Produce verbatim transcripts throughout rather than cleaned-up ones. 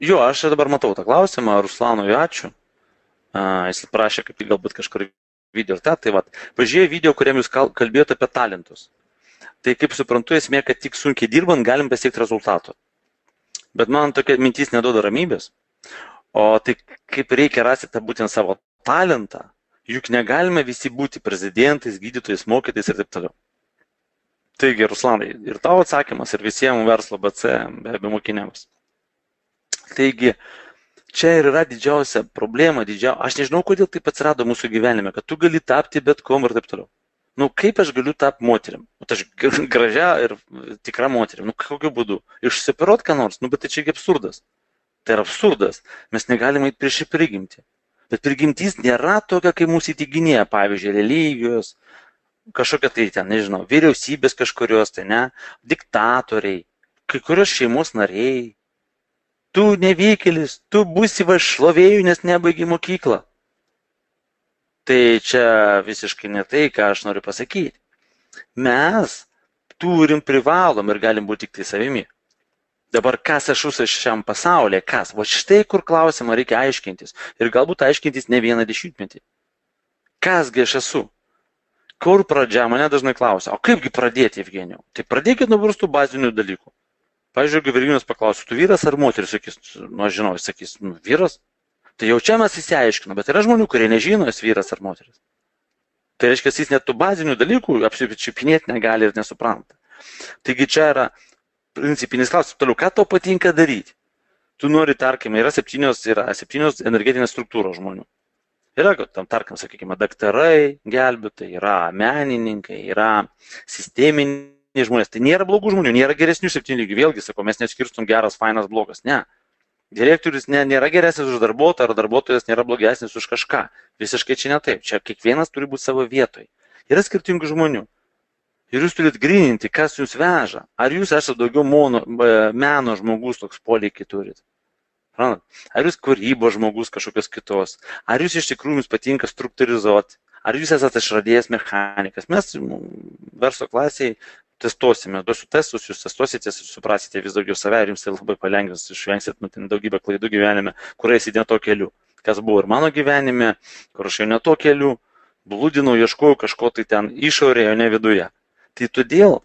Jo, aš dabar matau tą klausimą, Ruslanui ačiū. A, jis prašė, kaip galbūt kažkur video. Ta, tai va, pažiūrėjau video, kuriam jūs kalbėjote apie talentus. Tai kaip suprantu, esmė, kad tik sunkiai dirbant galim pasiekti rezultatų. Bet man tokia mintis neduoda ramybės. O tai kaip reikia rasti tą būtent savo talentą, juk negalime visi būti prezidentais, gydytojais, mokytais ir taip toliau. Taigi, Ruslanai, ir tavo atsakymas, ir visiems verslo B C, be abejo, mokiniams. Taigi, čia ir yra didžiausia problema, didžiausia. Aš nežinau, kodėl taip atsirado mūsų gyvenime, kad tu gali tapti bet kom ir taip toliau. Nu, kaip aš galiu tapti moterim? O aš gražia ir tikra moterim. Nu, kokiu būdu? Išsipirot ką nors? Nu, bet tai čia absurdas. Tai yra absurdas. Mes negalime eiti prieš prigimtį. Bet prigimtis nėra tokia, kaip mūsų įtikinėja, pavyzdžiui, religijos, kažkokia tai ten, nežinau, vyriausybės kažkurios, tai ne, diktatoriai, kai kurios šeimos nariai. Tu nevykėlis, tu būsi va šlovėjų, nes nebaigi mokyklą. Tai čia visiškai ne tai, ką aš noriu pasakyti. Mes turim, privalom ir galim būti tik tai savimi. Dabar kas aš esu šiam pasaulyje, kas? Va štai kur klausimą reikia aiškintis. Ir galbūt aiškintis ne vieną dešimtmetį. Kasgi aš esu? Kur pradžia? Mane dažnai klausia, o kaipgi pradėti, Evgenijau? Tai pradėkit nuo tų bazinių dalykų. Pavyzdžiui, jeigu Virginijus paklausų, tu vyras ar moteris, sakys, nu aš žinau, jis sakys, nu vyras. Tai jau čia mes įsiaiškinome, bet yra žmonių, kurie nežino, jis vyras ar moteris. Tai reiškia, jis net tų bazinių dalykų apsičiupinėti negali ir nesupranta. Taigi čia yra principinis klausimas. Toliau, ką tau patinka daryti? Tu nori, tarkime, yra septynios, yra septynios energetinės struktūros žmonių. Yra, tam, tarkim, sakykime, daktarai, gelbėtojai, yra menininkai, yra sisteminiai žmonės. Tai nėra blogų žmonių, nėra geresnių septynių lygių. Vėlgi, sako, mes neskirstum geras, fainas, blogas. Ne. Direktorius nėra geresnis už darbuotoją, ar darbuotojas nėra blogesnis už kažką. Visiškai čia ne taip. Čia kiekvienas turi būti savo vietoje. Yra skirtingų žmonių. Ir jūs turit gryninti, kas jūs veža. Ar jūs esate daugiau mono, meno žmogus, toks poreikį turit. Ar jūs kūrybos žmogus kažkokios kitos. Ar jūs iš tikrųjų jums patinka struktūrizuoti. Ar jūs esate išradėjas mechanikas. Mes verslo klasėje testuosime, duosiu testus, jūs testuosite, suprasite vis daugiau save ir jums tai labai palengvins, išvengsit nu, daugybę klaidų gyvenime, kur eisite ne to keliu. Kas buvo ir mano gyvenime, kur aš jau ne to keliu, blūdinau, ieškojau kažko tai ten išorėje, o ne viduje. Tai todėl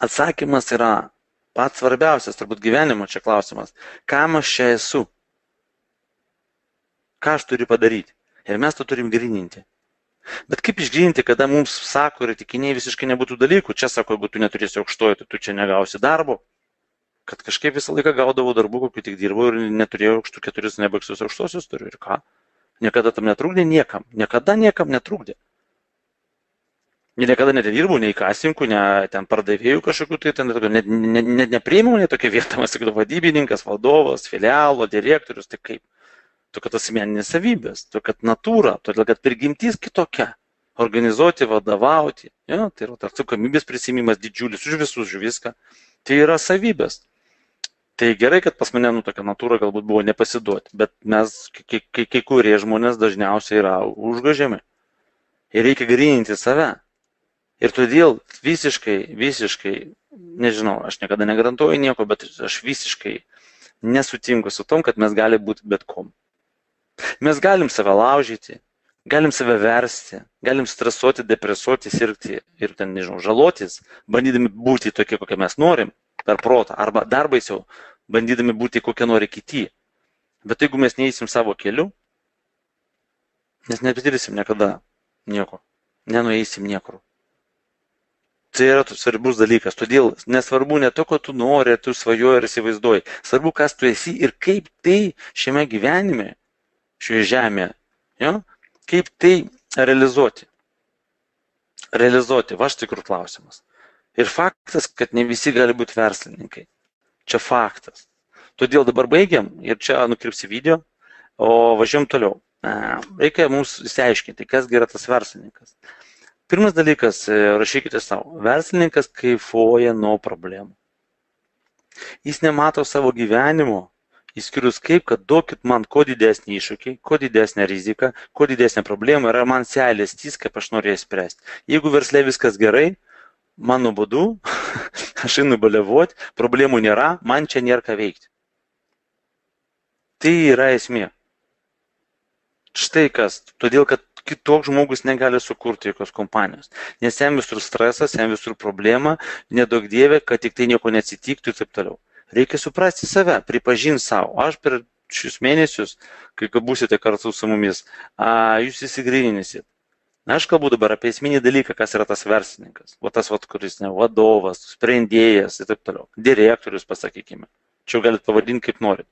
atsakymas yra pats svarbiausias, turbūt gyvenimo čia klausimas. Kam aš čia esu? Ką aš turiu padaryti? Ir mes to turim gryninti. Bet kaip išgryninti, kada mums sako ir tikiniai visiškai nebūtų dalykų. Čia sako, jeigu tu neturėsi aukštojo, tai tu čia negausi darbo. Kad kažkaip visą laiką gaudavau darbų, kokiu tik dirbau ir neturėjau aukštų keturis, nebaigsius aukštosius turiu. Ir ką? Niekada tam netrukdė niekam. Niekada niekam netrukdė. Niekada nedirbau nei kasininkų, ne ten pardavėjų kažkokių, tai ten net ne, ne, nepriėmiau ne tokia vieta, man sakydavo vadybininkas, vadovas, filialo, direktorius, tai kaip. Todėl kad asmeninės savybės, todėl kad natūra, todėl kad prigimtis kitokia. Organizuoti, vadovauti, ja, tai yra atsakomybės prisimimas didžiulis už visus, už viską. Tai yra savybės. Tai gerai, kad pas mane nu, tokia natūra galbūt buvo nepasiduoti, bet mes, kai, kai, kai kurie žmonės dažniausiai yra užgožiami. Ir reikia gryninti save. Ir todėl visiškai, visiškai, nežinau, aš niekada negarantuoju nieko, bet aš visiškai nesutinku su tom, kad mes gali būti bet kom. Mes galim save laužyti, galim save versti, galim stresuoti, depresuoti, sirgti ir ten, nežinau, žalotis, bandydami būti tokie, kokie mes norim, per protą, arba dar baisiau, bandydami būti kokie nori kiti. Bet jeigu mes neįsim savo keliu, mes nepatirsim niekada nieko, nenueisim niekur. Tai yra svarbus dalykas, todėl nesvarbu ne to, ko tu nori, tu svajoji ir įsivaizduoji, svarbu, kas tu esi ir kaip tai šiame gyvenime, šioje žemėje, ja? Kaip tai realizuoti. Realizuoti, va štai kur klausimas. Ir faktas, kad ne visi gali būti verslininkai. Čia faktas. Todėl dabar baigiam ir čia nukirpsi video, o važiuojam toliau. Reikia mums įsiaiškinti, kas yra tas verslininkas. Pirmas dalykas, rašykite savo, verslininkas kaifuoja nuo problemų. Jis nemato savo gyvenimo, įskyrus kaip, kad duokit man kuo didesnį iššūkį, kuo didesnę riziką, kuo didesnę problemą ir man seilės tys, kaip aš norėjau spręsti. Jeigu versle viskas gerai, man nuobodu, aš einu baliavoti, problemų nėra, man čia nėra ką veikti. Tai yra esmė. Štai kas, todėl kad kitoks žmogus negali sukurti jokios kompanijos. Nes jam visur stresas, jam visur problema, nedaug dievė, kad tik tai nieko neatsitiktų ir taip toliau. Reikia suprasti save, pripažinti savo. Aš per šius mėnesius, kai būsite kartu su mumis, a, jūs įsigryninsit. Aš kalbu dabar apie esminį dalyką, kas yra tas verslininkas. O tas, vat, kuris ne vadovas, sprendėjas ir taip toliau. Direktorius, pasakykime. Čia galit pavadinti kaip norit.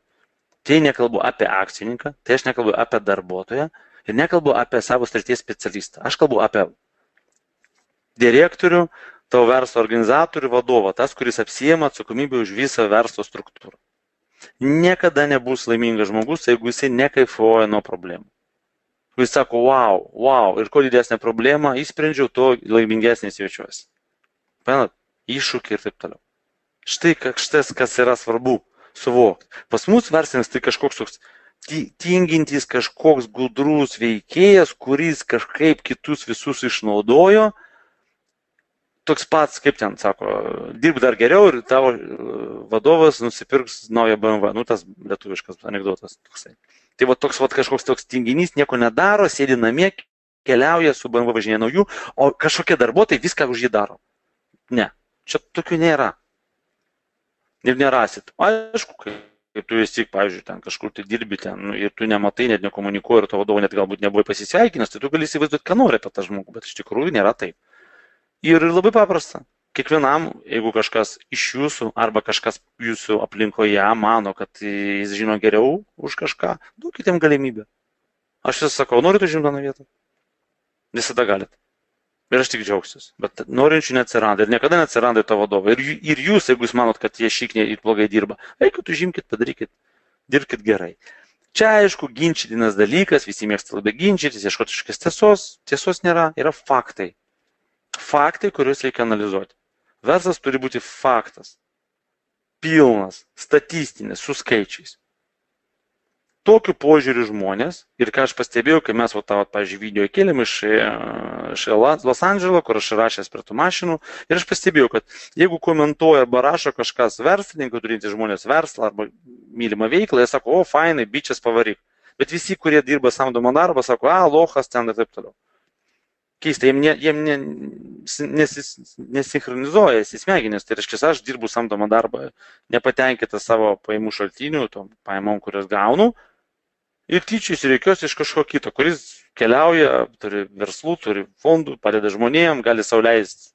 Tai nekalbu apie akcininką, tai aš nekalbu apie darbuotoją ir nekalbu apie savo srities specialistą. Aš kalbu apie direktorių, tavo verslo organizatorių, vadovą, tas, kuris apsijema atsakomybę už visą verslo struktūrą. Niekada nebus laimingas žmogus, jeigu jisai nekaifuoja nuo problemų. Jis sako, wow, wow, ir kuo didesnė problema, įsprendžiau, to laimingesnis jaučiuosi. Panat, iššūkiai ir taip toliau. Štai kažkas, kas yra svarbu suvokti. Pas mus verslininkas tai kažkoks toks tingintis, kažkoks gudrus veikėjas, kuris kažkaip kitus visus išnaudojo. Toks pats, kaip ten sako, dirb dar geriau ir tavo vadovas nusipirks naują B M W. Nu, tas lietuviškas anekdotas toksai. Tai va toks va, kažkoks toks tinginys nieko nedaro, sėdi namie, keliauja su B M W važinėje naujų, o kažkokie darbuotojai viską už jį daro. Ne, čia tokių nėra. Ir nerasit. Aišku, kaip tu esi, pavyzdžiui, ten kažkur tai dirbi ten nu, ir tu nematai, net nekomunikuoji ir to vadovo net galbūt nebuvo pasisveikinęs, tai tu gali įsivaizduoti, ką nori apie tą žmogų, bet iš tikrųjų nėra taip. Ir labai paprasta. Kiekvienam, jeigu kažkas iš jūsų arba kažkas jūsų aplinkoje mano, kad jis žino geriau už kažką, duokite jam galimybę. Aš vis sakau, norit užimti tą vietą? Visada galit. Ir aš tik džiaugsiuosi. Bet norinčių neatsiranda ir niekada neatsiranda to vadovo. Ir, ir jūs, jeigu jūs manot, kad jie šikniai ir blogai dirba, eikit, užimkit, padarykit, dirbkit gerai. Čia, aišku, ginčytinas dalykas, visi mėgsta labai ginčytis, ieškoti kažkokios tiesos. Tiesos nėra, yra faktai. Faktai, kuriuos reikia analizuoti. Verslas turi būti faktas. Pilnas, statistinis, su skaičiais. Tokiu požiūriu žmonės, ir ką aš pastebėjau, kai mes, va, tą, pavyzdžiui, video kėlėm iš, iš Los Andželo, kur aš rašęs prie tų mašinų, ir aš pastebėjau, kad jeigu komentuoja arba rašo kažkas verslininkų, turintys žmonės verslą arba mylimą veiklą, jie sako, o, fainai, bičias pavaryk. Bet visi, kurie dirba samdomą darbą, sako, a, lochas ten ir taip toliau. Keista, jiem, ne, jiem ne, nesis, nesinchronizuoja įsismeginės, tai reiškia, aš dirbu samdomą darbą, nepatenkintas savo pajamų šaltinių, tom pajamom, kurias gaunu, ir tyčiais reikiuosi iš kažko kito, kuris keliauja, turi verslų, turi fondų, padeda žmonėm, gali sau leisti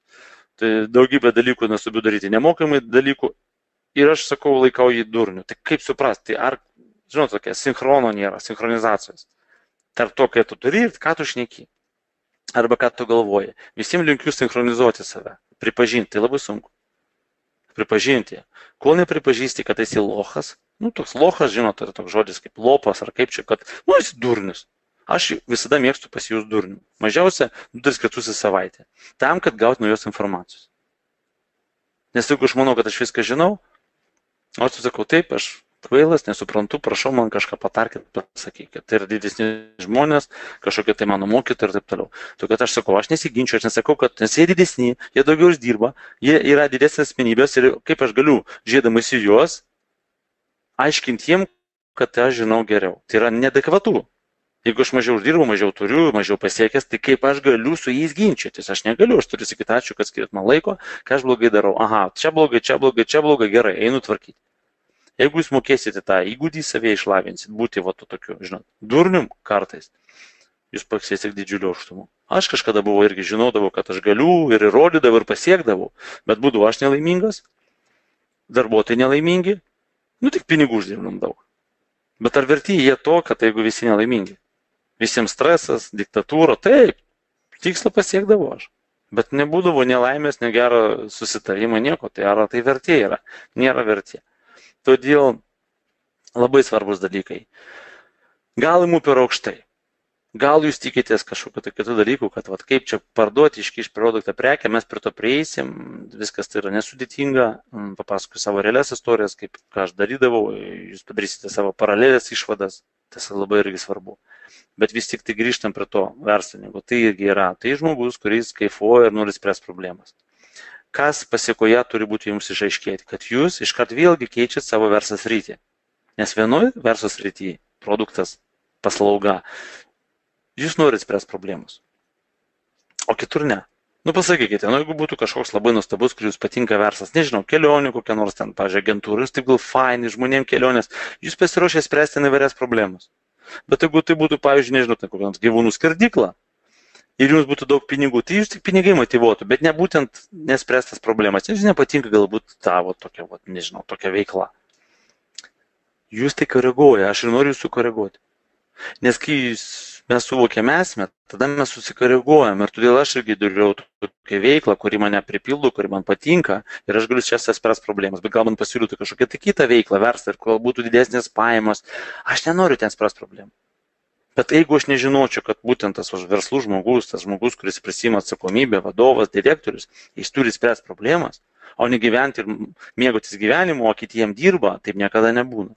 tai daugybę dalykų nesubiu daryti, nemokamai dalykų, ir aš sakau, laikau jį durniu. Tai kaip suprasti, tai ar, žinot, tokia sinchrono nėra, sinchronizacijos. Tarp to, kai tu turi ir ką tu šneki. Arba ką tu galvoji. Visiems linkiu sinchronizuoti save. Pripažinti, tai labai sunku. Pripažinti. Kol nepripažįsti, kad esi lochas, nu, toks lochas, žinot, tai yra toks žodis kaip lopas ar kaip čia, kad, nu, esi durnius. Aš visada mėgstu pasijus durniu. Mažiausia du tris kartus į savaitę. Tam, kad gauti naujos informacijos. Nes jeigu aš manau, kad aš viską žinau, o aš sakau, taip, aš kvailas, nesuprantu, prašau man kažką patarkit, pasakykit. Tai yra didesni žmonės, kažkokie tai mano mokytojai ir taip toliau. Todėl kad aš sakau, aš nesiginčiu, aš nesakau, kad nes jie didesni, jie daugiau uždirba, jie yra didesnės asmenybės ir kaip aš galiu, žiūrėdamas į juos, aiškinti jiem, kad aš žinau geriau. Tai yra neadekvatu. Jeigu aš mažiau uždirbu, mažiau turiu, mažiau pasiekęs, tai kaip aš galiu su jais ginčytis? Aš negaliu, aš turiu sakyti ačiū, kad skiriat man laiko, ką aš blogai darau. Aha, čia blogai, čia blogai, čia blogai, gerai, einu tvarkyti. Jeigu jūs mokėsite tą įgūdį savie išlavinsit, būti va to tokiu, žinot, durnium kartais, jūs pasieksite didžiulio aukštumų. Aš kažkada buvau irgi žinodavau, kad aš galiu ir įrodydavau ir pasiekdavau, bet būdavau aš nelaimingas, darbuotojai nelaimingi, nu tik pinigų uždirbam daug. Bet ar verti jie to, kad jeigu visi nelaimingi? Visiems stresas, diktatūra, taip, tikslą pasiekdavau aš. Bet nebūdavo nelaimės, negero susitarimo, nieko, tai ar tai vertė yra? Nėra vertė. Todėl labai svarbus dalykai. Gal imu per aukštai. Gal jūs tikitės kažkokiu tai kitų dalykų, kad vat, kaip čia parduoti, iškišti produktą prekę, mes prie to prieisim, viskas tai yra nesudėtinga, papasakosiu savo realias istorijas, kaip ką aš darydavau, jūs padarysite savo paralelės išvadas, tas labai irgi svarbu. Bet vis tik tai grįžtam prie to verslininko, tai irgi yra, tai žmogus, kuris kaifuoja ir nori spręsti problemas. Kas pasiekoje turi būti jums išaiškėti, kad jūs iškart vėlgi keičiat savo verslo sritį. Nes vienoj verslo srityje produktas, paslauga, jūs norit spręsti problemus, o kitur ne. Nu pasakykite, nu jeigu būtų kažkoks labai nuostabus, kur jūs patinka verslas, nežinau, kelionių kokia nors ten, pažiūrėjau, agentūra, jūs taip gal faini, žmonėm kelionės, jūs pasiruošę spręsti įvairias problemas. Bet jeigu tai būtų, pavyzdžiui, nežinau, tai kokia nors gyvūnų skerdykla ir jums būtų daug pinigų, tai jūs tik pinigai motyvuotų, bet ne būtent nespręstas problemas. Jums nepatinka galbūt tavo tokia, va, nežinau, tokia veikla. Jūs tai koreguoja, aš ir noriu jūsų koreguoti. Nes kai mes suvokiame esmę, tada mes susikoreguojam ir todėl aš irgi dariau tokią veiklą, kuri mane pripildo, kuri man patinka ir aš galiu čia spręsti problemas, bet gal man pasiūlytų kažkokią tai kitą veiklą, verslą ir kol būtų didesnės pajamos, aš nenoriu ten spręsti problemų. Bet jeigu aš nežinočiau, kad būtent tas verslų žmogus, tas žmogus, kuris prisima atsakomybę, vadovas, direktorius, jis turi spręsti problemas, o ne gyventi ir mėgautis gyvenimu, o kitiem dirba, taip niekada nebūna.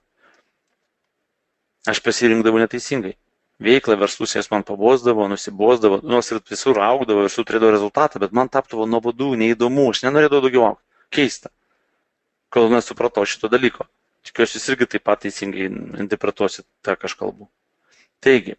Aš pasirinkdavau neteisingai. Veiklą, verslus jas man pabosdavo, nusibosdavo, nors ir visur augdavo, visur turėdavo rezultatą, bet man tapdavo nuobodu, neįdomu, aš nenorėdavau daugiau augti. Keista, kol nesupratau šito dalyko. Tikiuosi, jūs irgi taip pat teisingai interpretuosit tą, ką aš kalbu. Taigi,